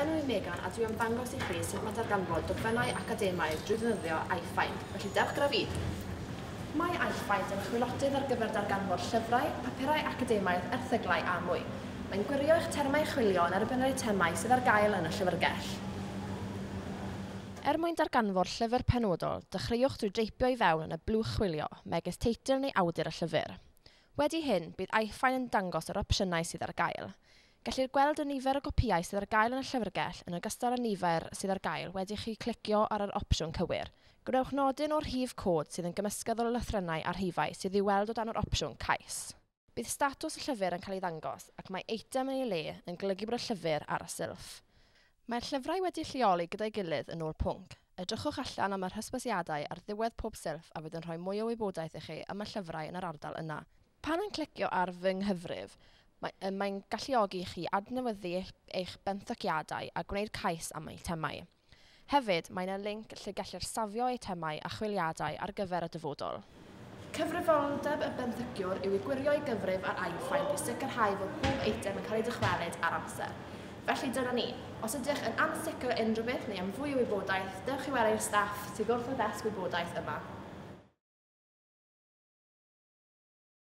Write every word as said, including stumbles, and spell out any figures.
Fy enw i Megan a dwi am ddangos i chi sut mae darganfod dogfennau academaidd drwy ddefnyddio iFind, felly dewch gyda fi. Mae iFind yn chwilotydd ar gyfer darganfod llyfrau, papurau academaidd, erthyglau a mwy. Mae'n gwirio eich termau chwilio yn erbyn yr eitemau sydd ar gael yn y llyfrgell. Er mwyn darganfod llyfr penodol, dechreuwch drwy dreipio i fewn yn y blwch chwilio, megis teitl neu awdur y llyfr. Wedi hyn, bydd iFind yn dangos yr opsiynau sydd ar gael. Gellir gweld y nifer o gopïau sydd ar gael yn y llyfrgell yn ogystal â nifer sydd ar gael wedi chi clicio ar yr opsiwn cywir. Gwnewch nodyn o'r rhif cod sydd yn gymysgedd o lythrennau a rhifau sydd i'w weld o dan yr opsiwn cais. Bydd statws y llyfr yn cael ei ddangos ac mae eitem yn ei le yn golygu bod y llyfr ar y silff. Mae'r llyfrau wedi lleoli gyda'i gilydd yn ôl pwnc. Edrychwch allan am yr hysbysiadau ar ddiwedd pob silff a fydd yn rhoi mwy o wybodaeth i chi am y llyfrau yn yr ardal yna. Pan yn clicio ar fy nghyfrif, Mae, mae'n galluogi i chi adnewyddu eich, eich benthyciadau a gwneud cais am eitemau. Hefyd, mae yna linc lle gellir safio eitemau a chwiliadau ar gyfer y dyfodol. Cyfrifoldeb y benthyciwr yw i gwirio ei gyfrif ar iFind i sicrhau fod pob eitem yn cael ei dychwelyd ar amser. Felly dyna ni. Os ydych yn ansicr unrhyw beth neu am fwy o wybodaeth, dewch i weld staff sydd wrth y ddesg wybodaeth yma.